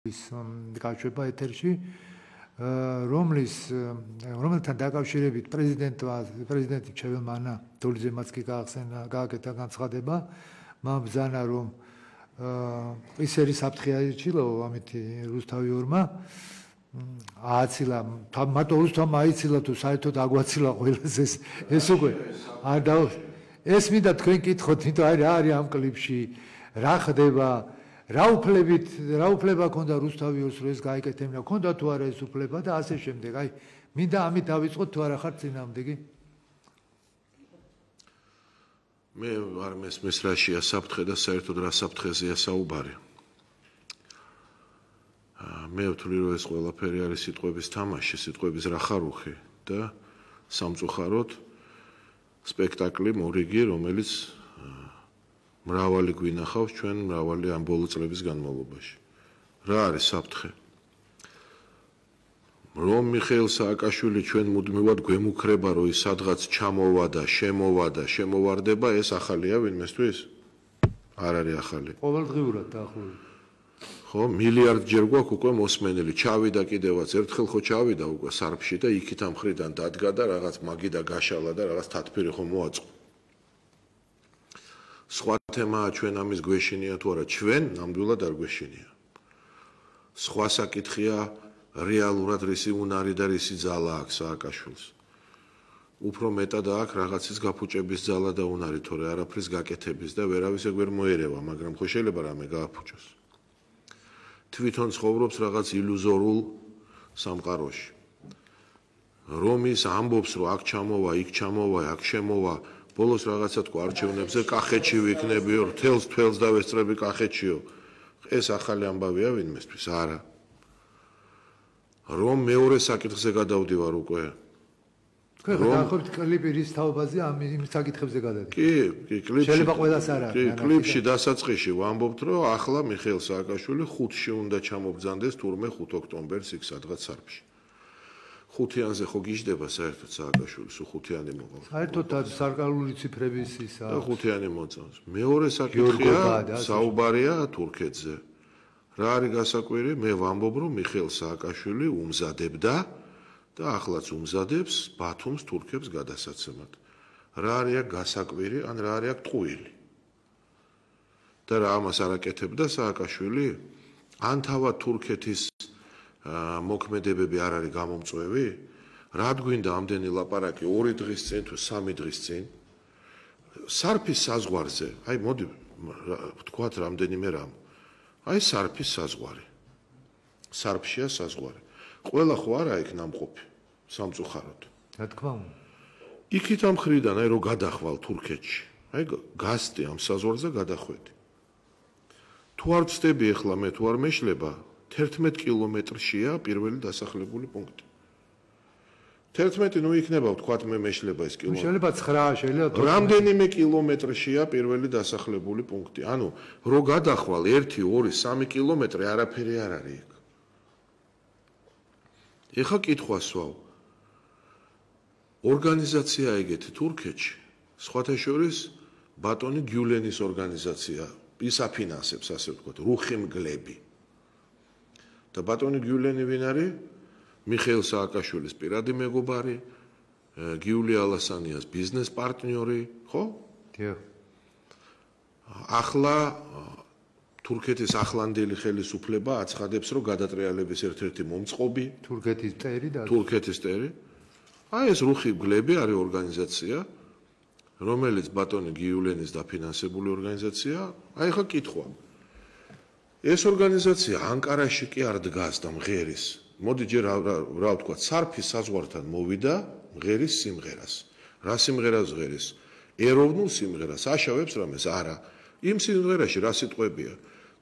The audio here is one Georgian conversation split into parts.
გაშვება ეთერში, რომელთან დაკავშირებით პრეზიდენტი ჩეველმანა დოლიძემაც კი გააკეთა განცხადება, მან ბრძანა რომ ის არის საფრთხე აიჩილა ამითი რუსთავიორმა ააცილა მარტო რუსთავმა აიცილა თუ საერთოდ აგვაცილა ყველას ეს უკვე არ და ეს მინდა თქვენ კითხოთ, იმიტომ რა არის ამ კლიპში, რა ხდება, რა უფლება ქონდა რუსთავიორს რომ ეს გაიკეთებინა, ქონდა თუ არა ეს უფლება და ასე შემდეგ. აი, მინდა ამით დავიწყოთ თუ არა ხარ წინააღმდეგი? მე არ მესმის რაშია საფრთხე და საერთოდ რა საფრთხეზეა საუბარი. მე ვთვლი რომ ეს ყველაფერი არის სიტყვების თამაში, სიტყვების რახარუხი და სამწუხაროდ სპექტაკლი მორიგი, რომელიც მრავალი გვინახავს ჩვენ მრავალი ამ ბოლო წლების განმავლობაში. რა არის საფრთხე? რომ მიხეილ სააკაშვილი ჩვენ მუდმივად გვემუქრება, რომ ის სადღაც ჩამოვა და შემოვარდება, ეს ახალია ვინმესთვის? არ არის ახალი. ყოველდღიურად დაახლოებით. ხო, მილიარდჯერ გვაქვს უკვე მოსმენელი, ჩავიდა კიდევაც ერთხელ ხო ჩავიდა უკვე სარფში და იქით ამ ხრიდან დადგა და რაღაც მაგიდა გაშალა და რაღაც თათფირი ხო მოაწყო. სხვა თემაა ჩვენ ამის გვეშინია თუ არა, ჩვენ ნამდვილად არ გვეშინია. სხვა საკითხია რეალურად რისი უნარი და რისი ძალა აქვს სააკაშვილს. უფრო მეტად აქვს რაღაცის გაფუჭების ძალა და უნარი, თორე არაფრის გაკეთების და ვერავის ეგ ვერ მოერევა, მაგრამ ხო შეიძლება რამე გააფუჭოს. თვითონ ცხოვრობს რაღაც ილუზორულ სამყაროში. რომ ის ამბობს, რომ აქ ჩამოვა, იქ ჩამოვა, აქ შემოვა, ბოლოს რაღაცა თქვა არჩევნებზე კახეთში ვიქნებიო, თელს დავესწრები კახეთშიო. ეს ახალი ამბავია ვინმესთვის? არა. რომ მეორე საკითხზე გადავდივარ უკვე. თქვენ დაახლოებით კლიპი რის თაობაზე იმ საკითხებზე გადადით. კი, კლიპში. შეიძლება ყველას არა. კი, კლიპში დასაწყისში ვამბობთ, რომ ახლა მიხეილ სააკაშვილი 5-ში უნდა ჩამობრძანდეს თურმე 5 ოქტომბერს იქ სადღაც სარფში. 5-იანზე ხო გიждდება საერთოდ სააკაშვილის 5-იანი მოყავს. საერთოდ სარკალული ციფრების ისა. და 5-იანი მოწონს. მეორე საკითხია საუბარია თურქეთზე. რა არის გასაკვირი? მე ვამბობ, რომ მიხეილ სააკაშვილი უმზადებდა და ახლაც უმზადებს ბათუმს თურქებს გადასაცემად. რა არის გასაკვირი, ან რა არის ტყუილი? და რა ამას არ აკეთებდა სააკაშვილი? ან თავად თურქეთის მოქმედებები არ არის გამომწვევი? რა გვინდა ამდენი ლაპარაკი 2 დღის წინ თუ 3 დღის წინ? სარფის საზღვარზე, აი მოდი ვთქვათ რამდენიმე რამ. აი სარფის საზღვარი. სარფშია საზღვარი. ყველა ხო არა იქ ნამყოფი სამწუხაროდ. რა თქმა უნდა. იქით ამ ხრიდან აი რო გადახვალ თურქეთში. აი გასტი ამ საზღვარზე გადახვედი. თუ არ ვწდები ახლა მე თუ არ მეშლება 11 კილომეტრშია პირველი დასახლებული პუნქტი. 11 ნუ იქნება ვთქვათ მე მეშლება ეს კილომეტრი. შეიძლება 9, შეიძლება 12. რამდენიმე კილომეტრშია პირველი დასახლებული პუნქტი. ანუ რო გადახვალ 1, 2, 3 კილომეტრი არაფერი არ არის იქ. ეხა კითხვას ვაv. ორგანიზაცია ეგეთი თურქეთში, სხვათა შორის ბატონი გიულენის ორგანიზაცია, ის აფინანსებს ასე ვთქვათ, რუხი მგლები. და ბატონი გიულენი ვინ არის? მიხეილ სააკაშვილის პირადი მეგობარი, გიული ალასანიას ბიზნეს პარტნიორი, ხო? დიახ. ახლა თურქეთის ახლანდელი ხელისუფლება აცხადებს, რომ გადატრიალების ერთ-ერთი მომწყობი თურქეთის ტერი. აი ეს რუხი მგლები არის ორგანიზაცია, რომელიც ბატონი გიულენის დაფინანსებული ორგანიზაცია. აი ხა კითხვა. ეს ორგანიზაცია ანკარაში კი არ დგას და მღერის. მოდი ჯერ რა ვთქვა, სარფის საზღვართან მოვიდა მღერის სიმღერას. რა სიმღერას ღერის? ეროვნულ სიმღერას. აშავებს რამეს? არა. იმ სიმღერაში რა სიტყვებია?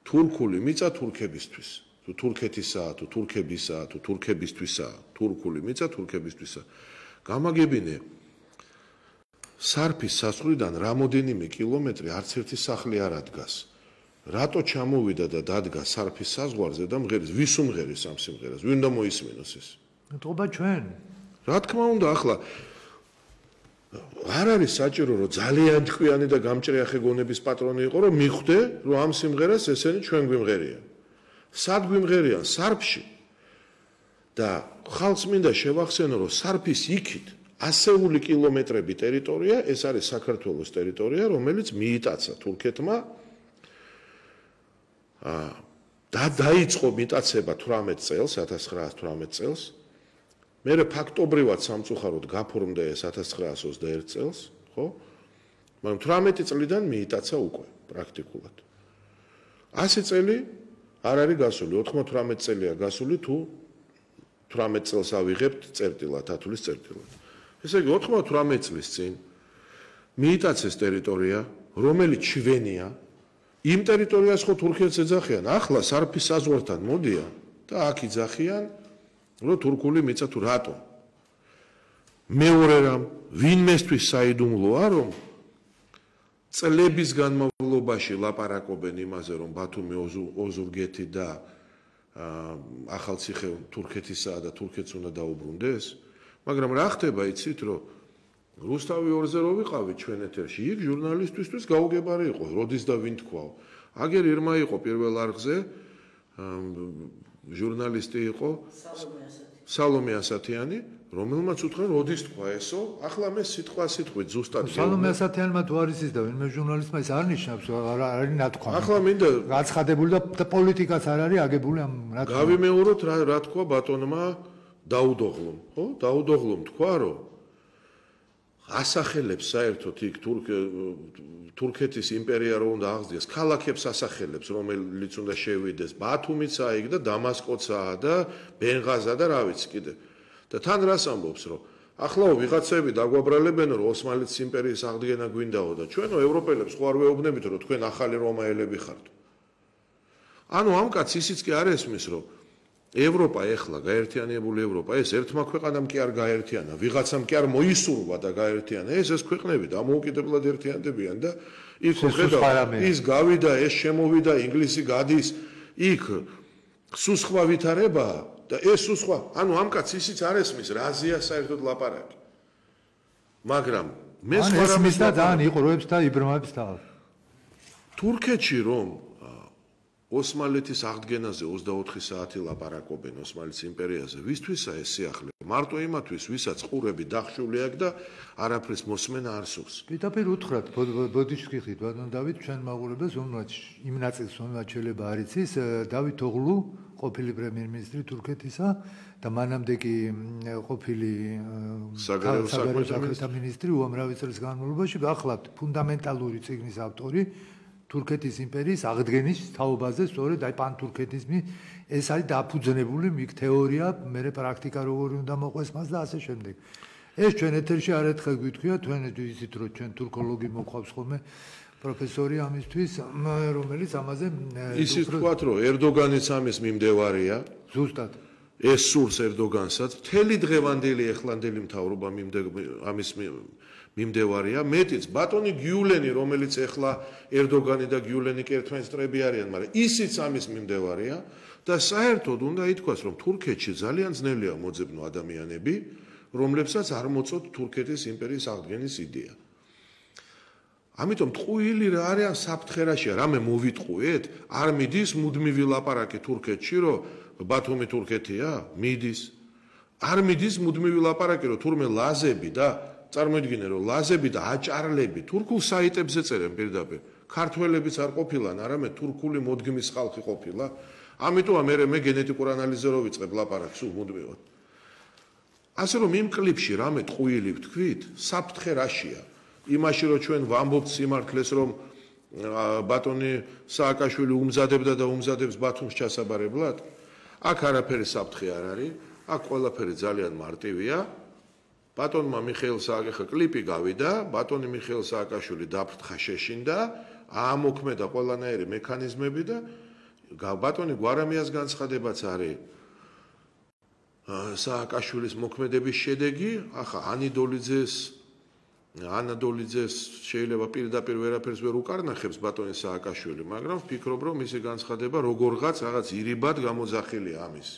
თურქული მიწა თურქებისთვის. თუ თურქეთისაა, თუ თურქებისაა, თუ თურქებისთვისაა, თურქული მიწა თურქებისთვისაა. გამაგებინე სარფის საზღვრიდან რამოდენიმე კილომეტრი არც ერთი სახლი არ ადგას. რატო ჩამოვიდა და დადგა სარფის საზღვარზე და მღერის? ვის უმღერის ამ სიმღერას? ვინ უნდა მოისმინოს ეს? მეთქობა ჩვენ. რა თქმა უნდა, ახლა არ არის საჭირო რომ ძალიან თქვიანი და გამჭრიახე გონების პატრონი იყო რომ მიხვდე რომ ამ სიმღერას ესენი ჩვენ გვიმღერიან. სად გვიმღერიან სარფში და ხალხს მინდა შევახსენო, რომ სარფის იქით ასეული კილომეტრები ტერიტორია, ეს არის საქართველოს ტერიტორია, რომელიც მიიტაცა თურქეთმა და დაიწყო მიტაცება 18 წელს, 1918 წელს. მერე ფაქტობრივად სამწუხაროდ გაფორმდა ეს 1921 წელს, ხო? მაგრამ 18 წლიდან მიიტაცა უკვე პრაქტიკულად. 100 წელი არ არის გასული, 98 წელია გასული თუ 18 წელს ავიღებთ წერტილად, ათulis წერტილად. ესე იგი 98 წლის წინ მიიტაცეს ტერიტორია, რომელიც ჩვენია, იმ ტერიტორიას ხო თურქეთს ეძახიან, ახლა სარფის საზღვართან მოდიან და აქ იძახიან, რომ თურქული მიწა თუ რატომ? მეორე რამ, ვინმესთვის საიდუმლოა, რომ წლების განმავლობაში ლაპარაკობენ იმაზე, რომ ბათუმი ოზურგეთი და ახალციხე თურქეთისაა და თურქეთს უნდა დაუბრუნდეს, მაგრამ რა ხდება იცით, რომ რუსთავი ორზე რო ვიყავით ჩვენ ეთერში, იქ ჟურნალისტისთვის გაუგებარი იყო, როდის და ვინ თქვაო. აგერ ირმა იყო პირველ არხზე, ჟურნალისტი იყო სალომე ასათიანი, რომელმაც უთხრა, როდის თქვა ესო, ახლა მე სიტყვით ზუსტად სალომე ასათიანმა თუ არის ის და ვინმე ჟურნალისტმა ის არ ნიშნავს, არ არის ნათქვა. ახლა მინდა გაცხადებული და პოლიტიკაც არ არის აგებული ამ ნათქვა. გავიმეოროთ რა თქვა ბატონმა დაუდოღლომ, ხო? დაუდოღლომ თქვა, რომ ასახელებს საერთოდ იქ თურქეთის იმპერია რო უნდა აღზრდიეს, ქალაქებს ასახელებს, რომელიც უნდა შევიდეს, ბათუმიცაა იქ და დამასკოცაა და ბენღაზა და რა ვიცი კიდე. და თან რას ამბობს, რომ ახლაო ვიღაცები დაგვაბრალებენ, რომ ოსმალეთის იმპერიის აღდგენა გვინდაო და ჩვენო ევროპელებს ხო არ ვეუბნებით, რომ თქვენ ახალი რომაელები ხართ. ანუ ამ კაცს ისიც კი არ ესმის, რომ ევროპა ეხლა გაერთიანებული ევროპა, ეს ერთმა ქვეყანამ კი არ გაერთიანა, ვიღაცამ კი არ მოისურვა და გაერთიანა, ეს ქვეყნები დამოუკიდებლად ერთიანდებიან და იქ ხედავ, ის გავიდა, ეს შემოვიდა, ინგლისი გადის, იქ სუსხვა ვითარებაა და ეს სუსხვა, ანუ ამ კაცს ისიც არ ესმის, რაზეა საერთოდ ლაპარაკი. მაგრამ მე სხვა რამის და ძალიან იყურებს და იბრმავებს თავს. თურქეთში რომ ოსმალეთის აღდგენაზე 24 საათი ლაპარაკობენ ოსმალეთის იმპერიაზე, ვისთვისა ეს სიახლე? მარტო იმათვის, ვისაც ყურები დახშული აქვს და არაფრის მოსმენა არ სურს. პირდაპირ უთხრათ, ბოდიშკიხით, ბატონ დავით, ჩვენ მაყურებელს უმრაჩ იმ ნაწილს უმრაჩ შეიძლება არ იცის, დავით ოღლუ, ყოფილი პრემიერ-მინისტრი თურქეთისა და მანამდე კი ყოფილი საგარეო საქმეთა მინისტრი უამრავი წლის განმავლობაში, ახლავთ ფუნდამენტალური წიგნის ავტორი თურქეთის იმპერიის აღდგენის თაობაზე, სწორედ აი პანთურქეთიზმი, ეს არის დაფუძნებული იქ თეორია, მე პრაქტიკა როგორი უნდა მოყვეს მას და ასე შემდეგ. ეს ჩვენ ეთერში არაერთხელ გვითქვია, თქვენ იცით რომ ჩვენ თურქოლოგი მოყვავს ხოლმე პროფესორი ამისთვის, რომელიც ამაზე ისიც ვთქვათ, რომ ერდოგანიც ამის მიმდევარია. ზუსტად. ეს სურს ერდოგანსაც, მთელი დღევანდელი ეხლანდელი მთავრობა ამის მიმდევარია, მეტიც ბატონი გიულენი, რომელიც ეხლა ერდოგანი და გიულენი კი ერთმანეთსტრები არიან, მაგრამ ისიც ამის მიმდევარია და საერთოდ უნდა ითქვას, რომ თურქეთში ძალიან ძნელია მოძებნო ადამიანები, რომლებსაც არ მოწოთ თურქეთის იმპერიის აღდგენის იდეა. ამიტომ ტყუილი რა არიან საფრთხერაშია, რამე მოვიტყუეთ, არ მიდის მუდმივი ლაპარაკი თურქეთში, რომ ბათუმი თურქეთია, მიდის. არ მიდის მუდმივი ლაპარაკი, რომ თურმე ლაზები და წარმოიდგინე, რომ ლაზები და აჭარლები თურქულ საიტებზე წერენ პირდაპირ. ქართველებიც არ ყოფილან, არამედ თურქული მოდგმის ხალხი ყოფილა. ამიტომა მე გენეტიკურ ანალიზზე რო ვიწყებ ლაპარაკს სულ მუდმივად. ასე რომ იმ კლიპში რამე ტყუილი ვთქვით, საფრთხე რაშია? იმაში რომ ჩვენ ვამბობთ სიმართლეს, რომ ბატონი სააკაშვილი უმზადებდა და უმზადებს ბათუმს ჩასაბარებლად, აქ არაფერი საფრთხე არ არის, აქ ყველაფერი ძალიან მარტივია. ბატონმა მიხეილ სააკაშვილმა კლიპი გავიდა, ბატონი მიხეილ სააკაშვილი დაფრთხა შეშინდა, აამოქმედა ყველანაირი მექანიზმები და ბატონი გვარამიას განცხადებაც არის სააკაშვილის მოქმედების შედეგი, ახლა ანა დოლიძეს შეიძლება პირდაპირ ვერაფერს ვერ უკარნახებს ბატონი სააკაშვილი, მაგრამ ვფიქრობ, რომ მისი განცხადება როგორღაც რაღაც ირიბად გამოძახილია ამის.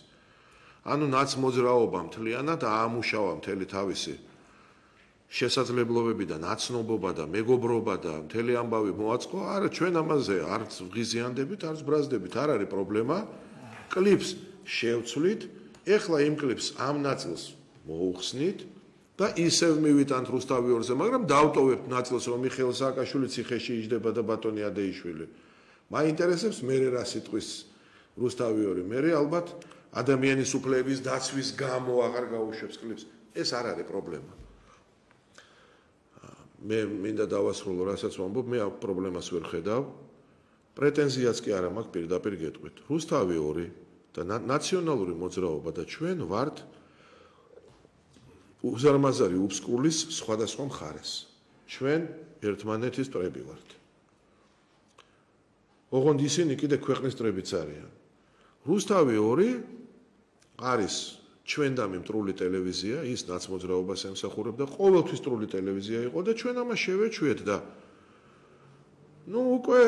ანუ ნაცმოძრაობა მთლიანად აამუშავა მთელი თავისი შესაძლებლობები და ნაცნობობა და მეგობრობა და მთელი ამბავი მოაწყო. არა, ჩვენ ამაზე არც ვღიზიანდებით, არც ბრაზდებით, არ არის პრობლემა. კლიპს შევცვლით, ეხლა იმ კლიპს ამ ნაწილს მოუხსნით და ისევ მივიტანთ რუსთავი ორზე, მაგრამ დავტოვებთ ნაწილს, რომ მიხეილ სააკაშვილი ციხეში იჯდება და ბატონი ადეიშვილი. მაინტერესებს მე რა სიტყვის რუსთავი ორი, მე ალბათ ადამიანის უფლებების დაცვის გამო აღარ გაუშვებს კლიპს. ეს არ არის პრობლემა. მე მინდა დავასრულო, რასაც ვამბობ, მე ამ პრობლემას ვერ ხედავ. პრეტენზიაც კი არა მაქვს, პირდაპირ გეტყვით. რუსთავი ორი და ნაციონალური მოძრაობა და ჩვენ ვართ უზარმაზარი უბსკულის სხვადასხვა მხარეს. ჩვენ ერთმანეთის მტრები ვართ. ოღონდ ისინი კიდე ქვეყნის მტრებიც არიან. რუსთავი ორი არის ჩვენდამი მტრული ტელევიზია, ის ნაცმოძრაობას ემსახურებდა, ყოველთვის მტრული ტელევიზია იყო და ჩვენ ამას შევეჩვიეთ და უკვე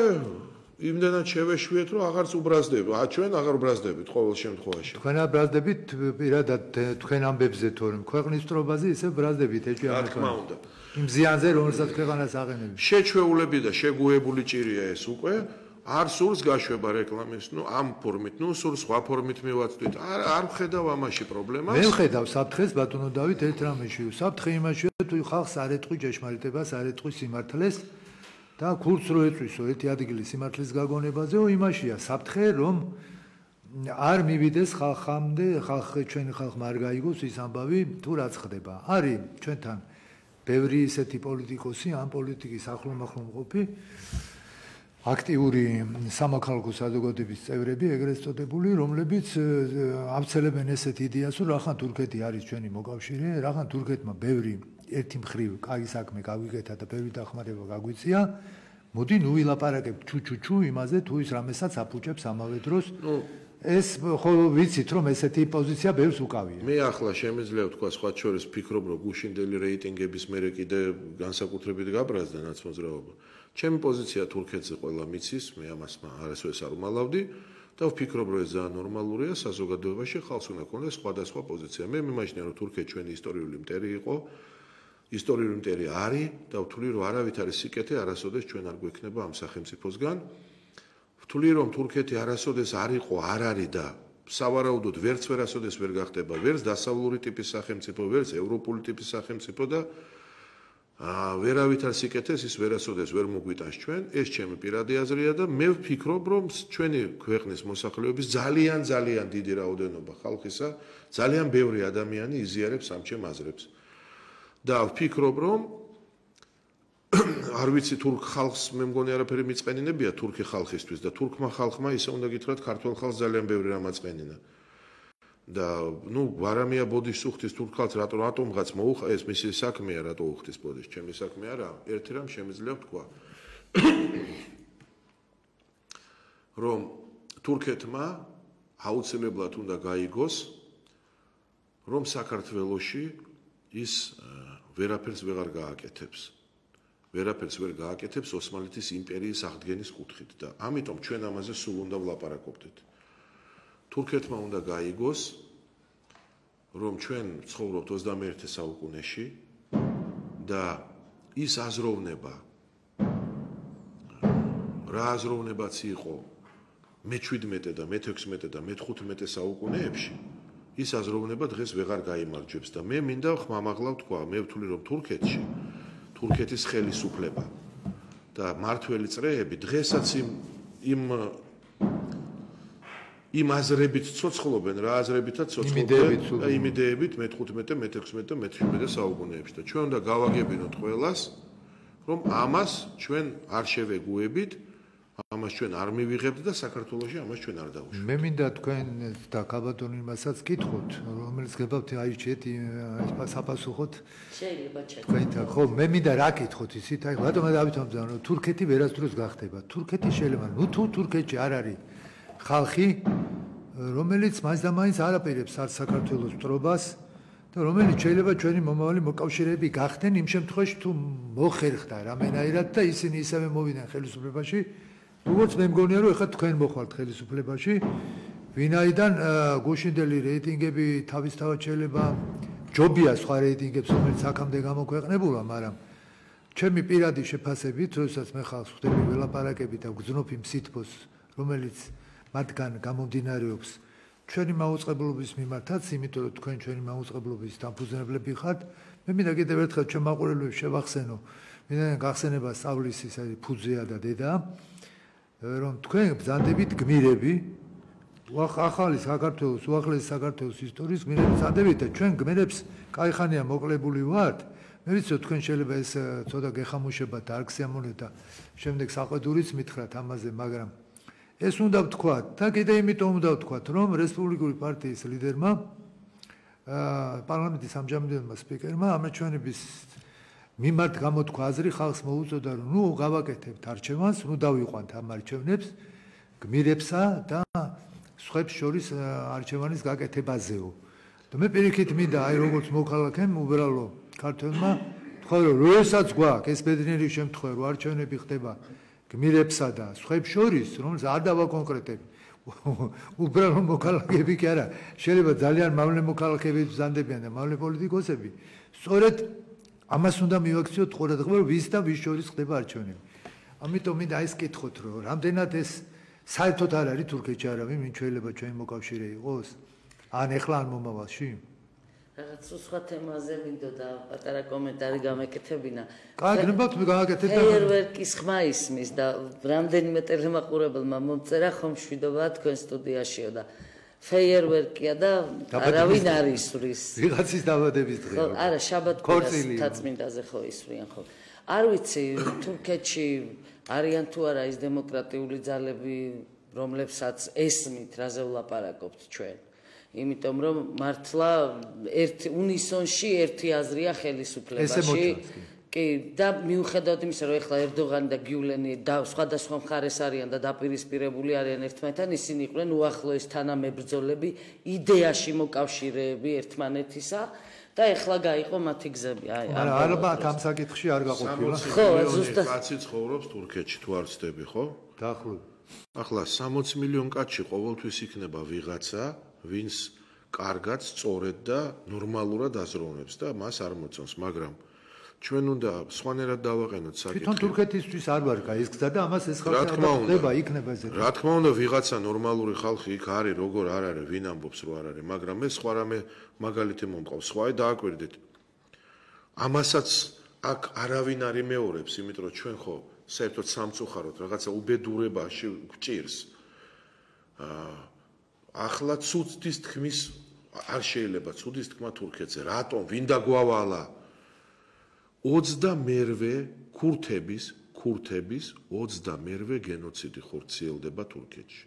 იმდენად შევეშვიეთ, რომ აღარც უბრაზდები. ჩვენ აღარ უბრაზდებით ყოველ შემთხვევაში. თქვენ არ ბრაზდებით პირადად თქვენ ამბებზე თორემ ქვეყნის მტრობაზე ისე ბრაზდებით ეჭვი რა თქმა უნდა. იმ ზიანზე რომელსაც ქვეყანას აღენებს. შეჩვეულები და შეგუებული ჭირია ეს უკვე. არ სურს გაშვება რეკლამის, ამ ფორმით, სურს სხვა ფორმით მივაწვით. არ ვხედავ ამაში პრობლემას. მე ვხედავ საფრთხეს ბატონო დავით ერთ რამეში. საფრთხე იმაშია, თუ ხალხს არ ეტყვი ჭეშმარიტებას, არ ეტყვი სიმართლეს და ქურდს რო ეწვისო ერთი ადგილის სიმართლის გაგონებაზეო, იმაშია საფრთხე, რომ არ მივიდეს ხალხამდე, ჩვენი ხალხმა არ გაიგოს ის ამბავი, თუ რაც ხდება. არის ჩვენთან ბევრი ისეთი პოლიტიკოსი, ამ პოლიტიკის ახლომახლო მყოფი აქტიური სამოქალაქო საზოგადოების წევრები, ეგრეთ წოდებული, რომლებიც აბცელებენ ესეთ იდეას, რომ რახან თურქეთი არის ჩვენი მოკავშირე, რახან თურქეთმა ბევრი ერთი მხრივ კაი საქმე გავიგეთა და ბევრი დახმარება გაგვიწია. მოდი ნუ ვილაპარაკებ ჩუ იმაზე, თუ ის რამესაც აფუჭებს ამავე დროს. ეს ხო ვიცით, რომ ესეთი პოზიცია ბევრს უკავია. მე ახლა შემიძლია ვთქვა სხვა შორის ფიქრობ, რომ გუშინდელი რეიტინგების მერე კიდე განსაკუთრებით გაბრაზდა ნაცმოძრაობა. ჩემი პოზიცია თურქეთზე ყველა მიცის, მე ამას არასოდეს არ უმალავდი და ვფიქრობ, რომ ეს ძალიან ნორმალურია საზოგადოებაში, ხალხს უნდა ქონდეს სხვადასხვა პოზიცია. მე მიმაჯნია, რომ თურქეთი ჩვენი ისტორიული მტერი იყო, ისტორიული მტერი არის და ვთვლი, რომ არავით არის სიკეთე, არასოდეს ჩვენ არ გვექნება ამ სახელმწიფოსგან. ვთვლი, რომ თურქეთი არასოდეს არ იყო, არ არის და სავარაუდოდ ვერასოდეს ვერ გახდება, ვერც დასავლური ტიპის სახელმწიფო, ვერც ევროპული ტიპის სახელმწიფო და ვერავით არ სიკეთეს ის ვერასოდეს ვერ მოგვიტანს ჩვენ, ეს ჩემი პირადი აზრია და მე ვფიქრობ, რომ ჩვენი ქვეყნის მოსახლეობის ძალიან დიდი რაოდენობა ხალხისა, ძალიან ბევრი ადამიანი იზიარებს ამ ჩემ აზრებს. და ვფიქრობ, რომ არ ვიცი თურქ ხალხს მე მგონი არაფერი მიწენინებია თურქი ხალხისთვის და თურქმა ხალხმა ისე უნდა გითხრათ ქართულ ხალხს ძალიან ბევრი რამ აწენინა. და ვარამია ბოდის უხდის თურქ ხალხს რატომღაც მოუხა ეს მისი საქმეა რატო უხდის ბოდის ჩემი საქმე არა ერთი რამ შემიძლია ვთქვა რომ თურქეთმა აუცილებლად უნდა გაიგოს რომ საქართველოში ის ვერაფერს ვეღარ გააკეთებს ვერაფერს ვერ გააკეთებს ოსმალეთის იმპერიის აღდგენის კუთხით და ამიტომ ჩვენ ამაზე სულ უნდა ვლაპარაკობდეთ თურქეთმა უნდა გაიგოს, რომ ჩვენ ცხოვრობთ 21 საუკუნეში და ის აზროვნება, რა აზროვნებაც იყო მე-17 და მე-16 და მე-15 საუკუნეებში, ის აზროვნება დღეს ვეღარ გაიმარჯვებს და მე მინდა ხმამაღლა ვთქვა, მე ვთვლი, რომ თურქეთში, თურქეთის ხელისუფლება და მართველი წრეები დღესაც იმ აზრებით ცოცხლობენ, რა აზრებითაც ცოცხლობენ, იმ იდეებით მე-15, მე-16 და მე-17 საუკუნეებში და ჩვენ უნდა გავაგებინოთ ყველას, რომ ამას ჩვენ არ შევეგუებით, ამას ჩვენ არ მივიღებთ და საქართველოში ამას ჩვენ არ დავუშვით. მე მინდა თქვენ და კაბატონი მასაც კითხოთ, რომელიც გებავთ აიჩეთ საპასუხოთ. შეიძლება ჩეკ. თქვენ ხო, მე მინდა რა კითხოთ ისიც, აი რატომ დავითვალებთ, რომ თურქეთი ვერასდროს გახდება. თურქეთი შეიძლება, თუ თურქეთში არ არის ხალხი, რომელიც მაინც და მაინც არაპირებს არც საქართველოს მტრობას და რომელიც შეიძლება ჩვენი მომავალი მოკავშირეები გახდნენ იმ შემთხვევაში თუ მოხერხდა რამენაირად და ისინი ისევე მოვიდნენ ხელისუფლებაში, როგორც მე მგონია რომ ეხლა თქვენ მოხვალთ ხელისუფლებაში, ვინაიდან გუშინდელი რეიტინგები თავისთავად შეიძლება ჯობია სხვა რეიტინგებს რომელიც აქამდე გამოქვეყნებულა, მაგრამ ჩემი პირადი შეფასებით, როდესაც მე ხალხს ხვდები ველაპარაკებით და ვგზნობ იმ სითბოს, რომელიც მათგან გამომდინარეობს ჩვენი მაუწყებლობის მიმართაც, იმიტომ რომ თქვენ ჩვენი მაუწყებლობის დამფუძნებლები ხართ, მე მინდა კიდევ ერთხელ ჩვენ მაყურებლებს შევახსენო, მინდა გახსენება სწავლის ის არის ფუძეა და დედა, რომ თქვენ ბრძანდებით გმირები, ახალი საქართველოს, უახლესი საქართველოს ისტორიის გმირები ბრძანდებით და ჩვენ გმირებს კაიხანია მოკლებული ვართ. მე ვიცი რომ თქვენ შეიძლება ეს ცოტა გეხამუშებათ, არ გსიამოვნებთ და შემდეგ საყვედურიც მითხრათ ამაზე, მაგრამ ეს უნდა ვთქვათ და კიდე იმიტომ უნდა ვთქვათ, რომ რესპუბლიკური პარტიის ლიდერმა პარლამენტის ამჟამინდელმა სპიკერმა ამაჩვენების მიმართ გამოთქვა აზრი, ხალხს მოუწოდა, რომ ნუ გავაკეთებთ არჩევანს, ნუ დავიყვანთ ამ არჩევნებს გმირებსა და სხვებს შორის არჩევანის გაკეთებაზეო. და მე პირიქით მინდა აი როგორც მოქალაქემ უბრალო ქართველმა თქვა რომ როდესაც გვაქვს ეს ბედნიერი შემთხვევა რომ არჩევნები ხდება გმირებსა და სხვებს შორის, რომ არ დავაკონკრეტებ. უბრალო მოქალაქეები კი არა, შეიძლება ძალიან მავნე მოქალაქეები ბრძანდებიან და მავნე პოლიტიკოსები. სწორედ ამას უნდა მივაქციოთ ყურადღება, რომ ვის და ვის შორის ხდება არჩევნები. ამიტომ მინდა ის კითხოთ, რომ რამდენად ეს საერთოდ არ არის თურქეთში არავინ, ვინ შეიძლება ჩვენი მოკავშირე იყოს? ან ეხლა ან მომავალში? რაღაც სხვა თემაზე მინდოდა პატარა კომენტარი გამეკეთებინა. კარგი, ნებავთ მე გავაკეთებ და ფეიერვერკის ხმა ისმის და რამდენიმე ტელემაყურებელმა მომწერა ხომ შვიდობაა თქვენ სტუდიაშიო და ფეიერვერკია და არავინ არ ისვრის. ვიღაცის დაბადების დღე. ხო, არა, შაბათ-კვირას თაწმინდაზე ხო ისვრიან ხო. არ ვიცი, თურქეთში არიან თუ არა ის დემოკრატიული ძალები, რომლებსაც ესმით, რაზე ვლაპარაკობთ ჩვენ. იმიტომ რომ მართლა უნისონში ერთი აზრია ხელისუფლებაში. კი, და მიუხედავად იმისა, რომ ეხლა ერდოღანი და გიულენი და სხვადასხვა მხარეს არიან და დაპირისპირებული არიან ერთმანეთთან, ისინი იყვნენ უახლოეს თანამებრძოლები, იდეაში მოკავშირეები ერთმანეთისა და ეხლა გაიყო მათი გზები. აი, ალბათ ამ საკითხში არ გაყოფილა. ხო, ზუსტად კაცი ცხოვრობს თურქეთში, თუ არ ვცდები, ხო? დაახლოებით. ახლა 60 მილიონ კაცში ყოველთვის იქნება ვიღაცა, ვინც კარგად, სწორედ და ნორმალურად აზროვნებს და მას არ მოწონს, მაგრამ ჩვენ უნდა სხვანაირად დავაყენოთ საკითხი. თვითონ თურქეთისთვის არ ვარ გაის გზა და ამას ეს ხალხი ხდება, იქნება ეს. რა თქმა უნდა, ვიღაცა ნორმალური ხალხი იქ არის, როგორ არ არის, ვინ ამბობს რომ არ არის, მაგრამ ეს სხვა რამე მაგალითი მომყავს. სხვაი დააკვირდით. ამასაც აქ არავინ არ იმეორებს, იმიტომ რომ ჩვენ ხო საერთოდ სამწუხაროდ რაღაცა უბედურებაში გვჭირს. ახლა ცუდის თქმის არ შეიძლება ცუდის თქმა თურქეთზე. რატომ? ვინ დაგვავალა? 28 ქურთების 28 გენოციდი ხორციელდება თურქეთში.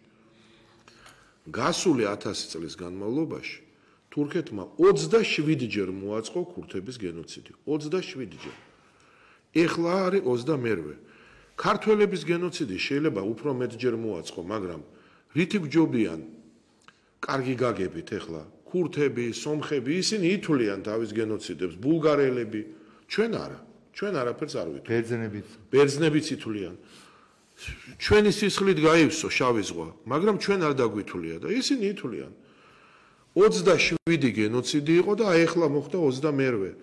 გასული 1000 წლის განმავლობაში თურქეთმა 27-ჯერ მოაწყო ქურთების გენოციდი. 27-ჯერ. ეხლა არის 22. ქართველების გენოციდი შეიძლება უფრო მეტჯერ მოაწყო, მაგრამ რითი გჯობიან? კარგი გაგებით ეხლა ქურთები, სომხები, ისინი ითვლიან თავის გენოციდებს, ბულგარელები, ჩვენ არა. ჩვენ არაფერს არ ვითვლით. ბერძნებიც ითვლიან. ჩვენი სისხლით გაივსო შავი ზღვა, მაგრამ ჩვენ არ დაგვითვლია და ისინი ითვლიან. 27 გენოციდი იყო და აი ეხლა მოხდა 22.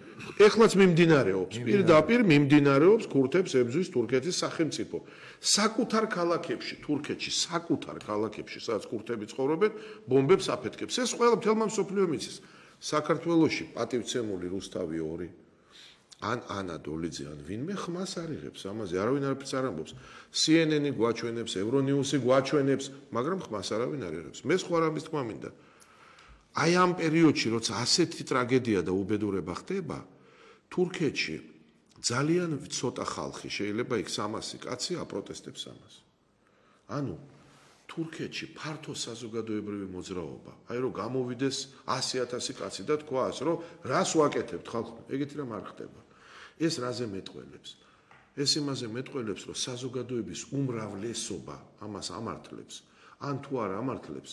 ეხლაც მიმდინარეობს, პირდაპირ მიმდინარეობს ქურთებს ებრძვის თურქეთის სახელმწიფო. საკუთარ ქალაქებში, თურქეთში, საკუთარ ქალაქებში, სადაც ქურთები ცხოვრობენ, ბომბებს აფეთქებს. ეს ყველა მთელმა მსოფლიომ იცის. საქართველოში პატივცემული რუსთავი 2 ან ანა დოლიძე ან ვინმე ხმას არიღებს ამაზე, არავინ არაფერს არ ამბობს. CNN-ი გვაჩვენებს, ევრონიუსი გვაჩვენებს, მაგრამ ხმას არავინ არ არიღებს. მე სხვა რამის თქმა მინდა. აი ამ პერიოდში, როცა ასეთი ტრაგედია და უბედურება ხდება, თურქეთში ძალიან ცოტა ხალხი, შეიძლება იქ 300 კაცი აპროტესტებს ამას. ანუ თურქეთში ფართო საზოგადოებრივი მოძრაობა, აი რომ გამოვიდეს 100,000 კაცი და თქვას, რომ რას ვაკეთებთ ხალხო, ეგეთი რამ არ ხდება. ეს რაზე მეტყველებს? ეს იმაზე მეტყველებს, რომ საზოგადოების უმრავლესობა ამას ამართლებს, ან თუ არ ამართლებს,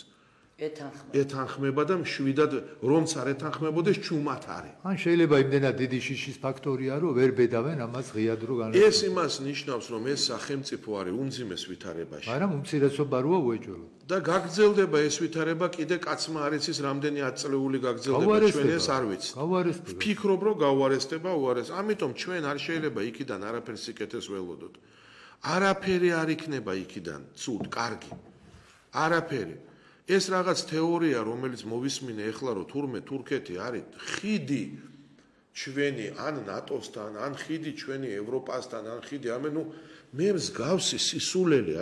ეთანხმება და მშვიდად რომც არ ეთანხმებოდეს ჩუმად არის. ან შეიძლება იმდენად დიდი შიშის ფაქტორია, რომ ვერ ბედავენ ამას ღიად რო განაცხადოს. ეს იმას ნიშნავს, რომ ეს სახელმწიფო არის უმძიმეს ვითარებაში. მაგრამ უმცირესობა როა უეჭველო. და გაგრძელდება ეს ვითარება, კიდე კაცმა არ იცის რამდენი 10 წლეული გაგრძელდება, ჩვენ ეს არ ვიცით. ვფიქრობ, რომ გავარესტება, უარეს. ამიტომ ჩვენ არ შეიძლება იქიდან არაფერს სიკეთეს ველოდოთ. არაფერი არ იქნება იქიდან ცუდ, კარგი. არაფერი. ეს რაღაც თეორია, რომელიც მოვისმინე ეხლა, რომ თურმე თურქეთი არის ხიდი ჩვენი ან ნატოსთან, ან ხიდი ჩვენი ევროპასთან, ან ხიდი მე მსგავსი სისულელი,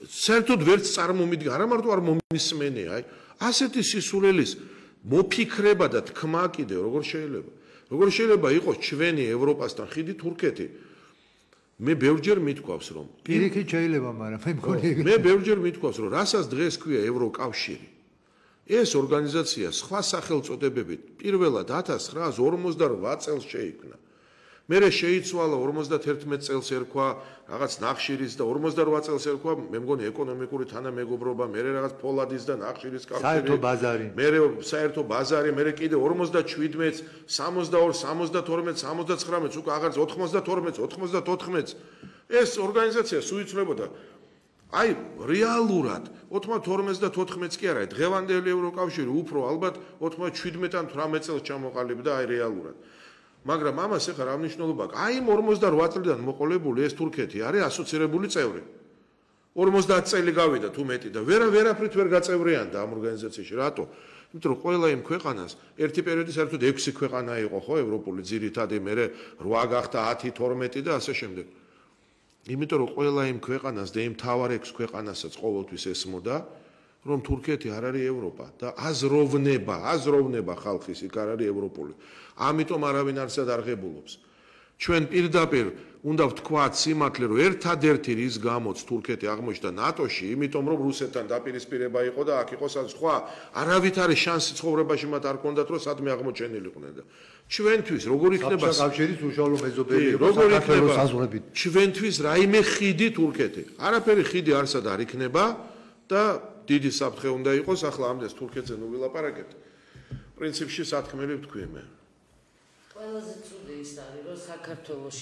საერთოდ ვერც წარმომიდგა, არა მარტო არ მომისმენე, ასეთი სისულელის მოფიქრება და თქმა კიდე როგორ შეიძლება იყოს ჩვენი ევროპასთან ხიდი თურქეთი. მე ბევრჯერ მithქვავს რომ პირიქით შეიძლება, მაგრამ მე ბევრჯერ მithქვავს რომ რასაც დღეს ქვია ევროკავშირი. ეს ორგანიზაცია სხვა სახელწოდებებით პირველად 1948 წელს შეიქმნა. მერე შეიცვალა 51 წელს ერქვა რაღაც ნახშირის და 48 წელს ერქვა მე მგონი ეკონომიკური თანამეგობრობა, მერე რაღაც ფოლადის და ნახშირის კავშირი, მერე საერთო ბაზარი, მერე კიდე 47-ს, 62, 72, 79-ს, უკვე აღარ 92-ს, 94-ს ეს ორგანიზაცია სუიცვლებოდა. რეალურად 92-ს და 14-ს კი არა, დღევანდელი ევროკავშირი უფრო ალბათ 97-ან 18 წელს ჩამოყალიბდა რეალურად. მაგრამ ამას ეხლა რა მნიშვნელობა აქვს? იმ 48 წლიდან მოყოლებული ეს თურქეთი არის ასოცირებული წევრი. 50 წელი გავიდა თუ მეტი და ვერაფრით ვერ გაწევრიანდა ამ ორგანიზაციაში. რატო? იმიტომ რომ ყველა იმ ქვეყანას ერთი პერიოდი საერთოდ 6 ქვეყანა იყო, ხო, ევროპული ძირითადი, მერე 8 გახდა 10, 12 და ასე შემდეგ. იმიტომ რომ ყველა იმ ქვეყანას და იმ თავარ 6 ქვეყანასაც ყოველთვის ესმოდა, რომ თურქეთი არ არის ევროპა და აზროვნება ხალხის იქ არ არის ევროპული. ამიტომ არავინ არსად არ ღებულობს. ჩვენ პირდაპირ უნდა ვთქვათ სიმართლე, რომ ერთადერთი რის გამოც თურქეთი აღმოჩნდა ნატოში, იმიტომ რომ რუსეთთან დაპირისპირება იყო და აქ იყო სხვა არავითარი შანსი ცხოვრებაში მათ არ ჰქონდათ, რომ სადმე აღმოჩენილიყვნენ და ჩვენთვის როგორ იქნება კავშირის უშუალო მეზობელი იყო საქართველოს საზღვრებით. ჩვენთვის რაიმე ხიდი თურქეთი. არაფერი ხიდი არსად არ იქნება და დიდი საფრთხე უნდა იყოს. ახლა ამდენს თურქეთზე ნუ ვილაპარაკებთ. პრინციპში სათქმელი ვთქვი მე. ყველაზე ცუდი ის არის, რომ საქართველოში